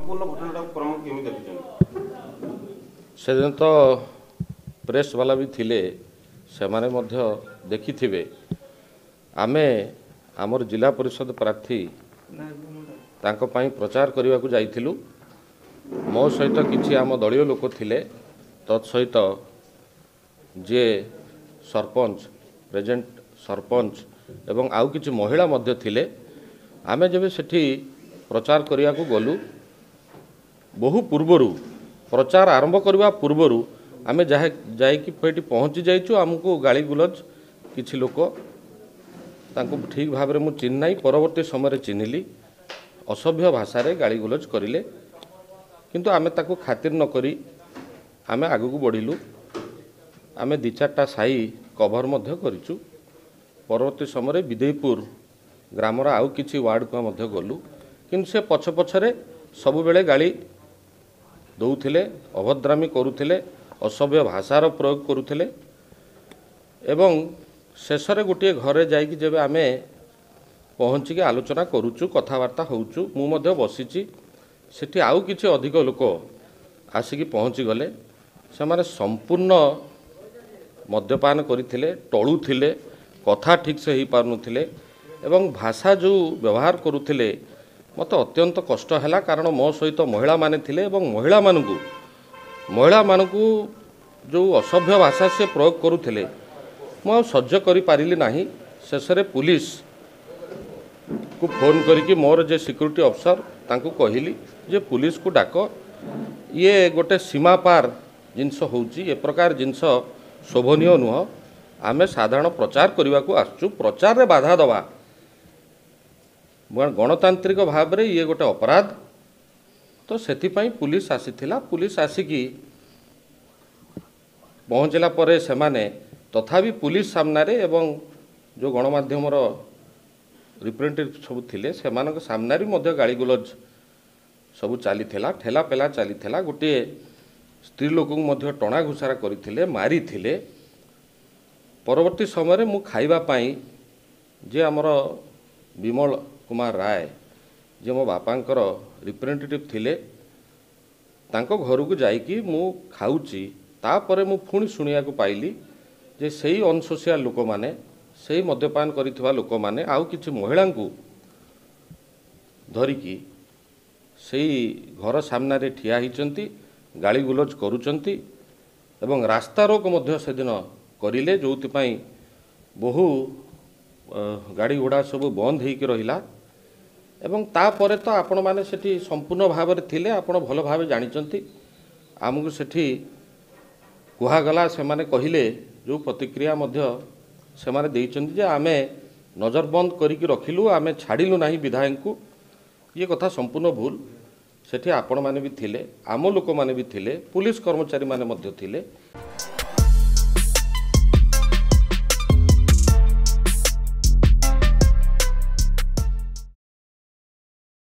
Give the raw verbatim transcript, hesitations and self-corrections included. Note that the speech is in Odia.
ସମ୍ପୂର୍ଣ୍ଣ ଘଟଣାଟାକୁ କ୍ରମ କେମିତି ଦେଖୁଛନ୍ତି? ସେଦିନ ତ ପ୍ରେସ୍ ବାଲା ବି ଥିଲେ, ସେମାନେ ମଧ୍ୟ ଦେଖିଥିବେ। ଆମେ ଆମର ଜିଲ୍ଲା ପରିଷଦ ପ୍ରାର୍ଥୀ ତାଙ୍କ ପାଇଁ ପ୍ରଚାର କରିବାକୁ ଯାଇଥିଲୁ। ମୋ ସହିତ କିଛି ଆମ ଦଳୀୟ ଲୋକ ଥିଲେ, ତତ୍ ସହିତ ଯିଏ ସରପଞ୍ଚ, ପ୍ରେଜେଣ୍ଟ ସରପଞ୍ଚ ଏବଂ ଆଉ କିଛି ମହିଳା ମଧ୍ୟ ଥିଲେ। ଆମେ ଯେବେ ସେଠି ପ୍ରଚାର କରିବାକୁ ଗଲୁ, ବହୁ ପୂର୍ବରୁ, ପ୍ରଚାର ଆରମ୍ଭ କରିବା ପୂର୍ବରୁ ଆମେ ଯାହା ଯାଇକି ସେଇଠି ପହଞ୍ଚି ଯାଇଛୁ। ଆମକୁ ଗାଳି ଗୁଲଜ କିଛି ଲୋକ, ତାଙ୍କୁ ଠିକ୍ ଭାବରେ ମୁଁ ଚିହ୍ନି ନାହିଁ, ପରବର୍ତ୍ତୀ ସମୟରେ ଚିହ୍ନିଲି, ଅସଭ୍ୟ ଭାଷାରେ ଗାଳି ଗୁଲଜ କରିଲେ। କିନ୍ତୁ ଆମେ ତାକୁ ଖାତିର ନ କରି ଆମେ ଆଗକୁ ବଢ଼ିଲୁ। ଆମେ ଦୁଇ ଚାରିଟା ସାହି କଭର ମଧ୍ୟ କରିଛୁ। ପରବର୍ତ୍ତୀ ସମୟରେ ବିଦେଇପୁର ଗ୍ରାମର ଆଉ କିଛି ୱାର୍ଡ଼କୁ ମଧ୍ୟ ଗଲୁ, କିନ୍ତୁ ସେ ପଛ ପଛରେ ସବୁବେଳେ ଗାଳି ଦେଉଥିଲେ, ଅଭଦ୍ରାମି କରୁଥିଲେ, ଅସଭ୍ୟ ଭାଷାର ପ୍ରୟୋଗ କରୁଥିଲେ। ଏବଂ ଶେଷରେ ଗୋଟିଏ ଘରେ ଯାଇକି ଯେବେ ଆମେ ପହଞ୍ଚିକି ଆଲୋଚନା କରୁଛୁ, କଥାବାର୍ତ୍ତା ହେଉଛୁ, ମୁଁ ମଧ୍ୟ ବସିଛି ସେଠି, ଆଉ କିଛି ଅଧିକ ଲୋକ ଆସିକି ପହଞ୍ଚିଗଲେ। ସେମାନେ ସମ୍ପୂର୍ଣ୍ଣ ମଦ୍ୟପାନ କରିଥିଲେ, ଟଳୁଥିଲେ, କଥା ଠିକ୍ସେ ହେଇପାରୁନଥିଲେ ଏବଂ ଭାଷା ଯେଉଁ ବ୍ୟବହାର କରୁଥିଲେ ମୋତେ ଅତ୍ୟନ୍ତ କଷ୍ଟ ହେଲା, କାରଣ ମୋ ସହିତ ମହିଳାମାନେ ଥିଲେ ଏବଂ ମହିଳାମାନଙ୍କୁ ମହିଳାମାନଙ୍କୁ ଯେଉଁ ଅସଭ୍ୟ ଭାଷା ସେ ପ୍ରୟୋଗ କରୁଥିଲେ ମୁଁ ଆଉ ସହ୍ୟ କରିପାରିଲି ନାହିଁ। ଶେଷରେ ପୁଲିସକୁ ଫୋନ୍ କରିକି ମୋର ଯେ ସିକ୍ୟୁରିଟି ଅଫିସର ତାଙ୍କୁ କହିଲି ଯେ ପୁଲିସକୁ ଡାକ, ଇଏ ଗୋଟେ ସୀମା ପାର ଜିନିଷ ହେଉଛି, ଏ ପ୍ରକାର ଜିନିଷ ଶୋଭନୀୟ ନୁହଁ। ଆମେ ସାଧାରଣ ପ୍ରଚାର କରିବାକୁ ଆସୁଛୁ, ପ୍ରଚାରରେ ବାଧା ଦେବା ଗଣତାନ୍ତ୍ରିକ ଭାବରେ ଇଏ ଗୋଟେ ଅପରାଧ। ତ ସେଥିପାଇଁ ପୁଲିସ ଆସିଥିଲା। ପୁଲିସ ଆସିକି ପହଞ୍ଚିଲା ପରେ ସେମାନେ ତଥାପି ପୁଲିସ ସାମ୍ନାରେ ଏବଂ ଯେଉଁ ଗଣମାଧ୍ୟମର ରିପ୍ରେଜେଣ୍ଟେଟିଭ୍ ସବୁ ଥିଲେ ସେମାନଙ୍କ ସାମ୍ନାରେ ମଧ୍ୟ ଗାଳିଗୁଲଜ ସବୁ ଚାଲିଥିଲା, ଠେଲା ପେଲା ଚାଲିଥିଲା। ଗୋଟିଏ ସ୍ତ୍ରୀ ଲୋକଙ୍କୁ ମଧ୍ୟ ଟଣା ଘୋଷରା କରିଥିଲେ, ମାରିଥିଲେ। ପରବର୍ତ୍ତୀ ସମୟରେ ମୁଁ ଖାଇବା ପାଇଁ ଯେ ଆମର ବିମଳ କୁମାର ରାୟ, ଯିଏ ମୋ ବାପାଙ୍କର ରିପ୍ରେଜେଣ୍ଟେଟିଭ୍ ଥିଲେ, ତାଙ୍କ ଘରକୁ ଯାଇକି ମୁଁ ଖାଉଛି। ତାପରେ ମୁଁ ପୁଣି ଶୁଣିବାକୁ ପାଇଲି ଯେ ସେଇ ଅନସୋସିଆଲ ଲୋକମାନେ, ସେଇ ମଦ୍ୟପାନ କରିଥିବା ଲୋକମାନେ ଆଉ କିଛି ମହିଳାଙ୍କୁ ଧରିକି ସେଇ ଘର ସାମ୍ନାରେ ଠିଆ ହେଇଛନ୍ତି, ଗାଳିଗୁଲଜ କରୁଛନ୍ତି ଏବଂ ରାସ୍ତାରୋକ ମଧ୍ୟ ସେଦିନ କରିଲେ, ଯେଉଁଥିପାଇଁ ବହୁ ଗାଡ଼ି ଘୋଡ଼ା ସବୁ ବନ୍ଦ ହେଇକି ରହିଲା। ଏବଂ ତାପରେ ତ ଆପଣମାନେ ସେଠି ସମ୍ପୂର୍ଣ୍ଣ ଭାବରେ ଥିଲେ, ଆପଣ ଭଲ ଭାବେ ଜାଣିଛନ୍ତି। ଆମକୁ ସେଠି କୁହାଗଲା, ସେମାନେ କହିଲେ, ଯେଉଁ ପ୍ରତିକ୍ରିୟା ମଧ୍ୟ ସେମାନେ ଦେଇଛନ୍ତି ଯେ ଆମେ ନଜରବନ୍ଦ କରିକି ରଖିଲୁ, ଆମେ ଛାଡ଼ିଲୁ ନାହିଁ ବିଧାୟକଙ୍କୁ, ଇଏ କଥା ସମ୍ପୂର୍ଣ୍ଣ ଭୁଲ। ସେଠି ଆପଣମାନେ ବି ଥିଲେ, ଆମ ଲୋକମାନେ ବି ଥିଲେ, ପୁଲିସ କର୍ମଚାରୀମାନେ ମଧ୍ୟ ଥିଲେ।